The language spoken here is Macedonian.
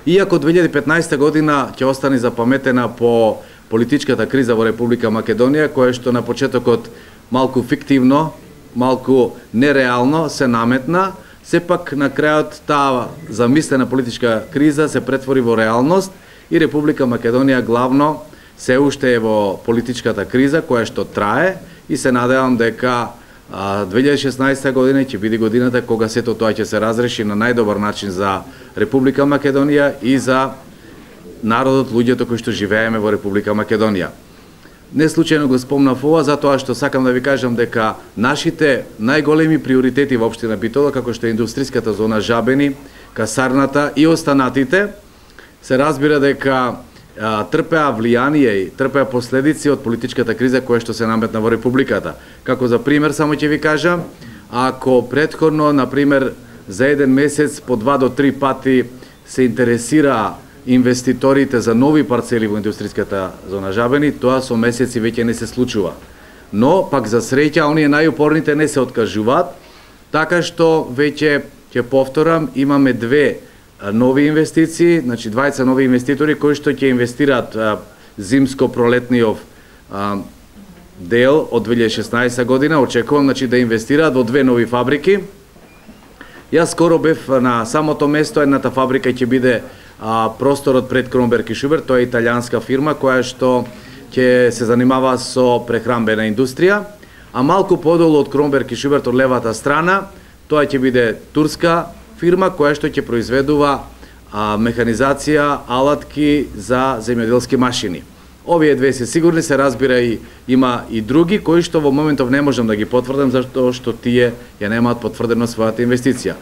Иако 2015 година ќе остане запаметена по политичката криза во Република Македонија, која што на почетокот малку фиктивно, малку нереално се наметна, сепак на крајот таа замислена политичка криза се претвори во реалност и Република Македонија главно се уште е во политичката криза која што трае и се надевам дека 2016 година ќе биде годината кога сето тоа ќе се разреши на најдобар начин за Република Македонија и за народот, луѓето кои што живееме во Република Македонија. Не случајно го спомнав ова, затоа што сакам да ви кажам дека нашите најголеми приоритети во општина Битола, како што е индустријската зона Жабени, касарната и останатите, се разбира дека трпеа влијание и трпеа последици од политичката криза која што се наметна во Републиката. Како за пример, само ќе ви кажам, ако претходно, например, за еден месец по 2 до 3 пати се интересира инвеститорите за нови парцели во индустријската зона Жабени, тоа со месеци веќе не се случува. Но, пак за среќа, оние најупорните не се откажуваат, така што веќе, ќе повторам, имаме две нови инвестиции, значи двајца нови инвеститори кои што ќе инвестираат зимско-пролетниот дел од 2016 година, очекувам значи да инвестираат во две нови фабрики. Јас скоро бев на самото место, едната фабрика ќе биде просторот пред Кромберг и Шуберт, тоа е италијанска фирма која што ќе се занимава со прехранбена индустрија, а малку подолу од Кромберг и Шуберт од левата страна, тоа ќе биде турска фирма која што ќе произведува механизација, алатки за земјоделски машини. Овие две се сигурни, се разбира и има и други кои што во моментов не можам да ги потврдам затоа што тие ја немаат потврдено својата инвестиција.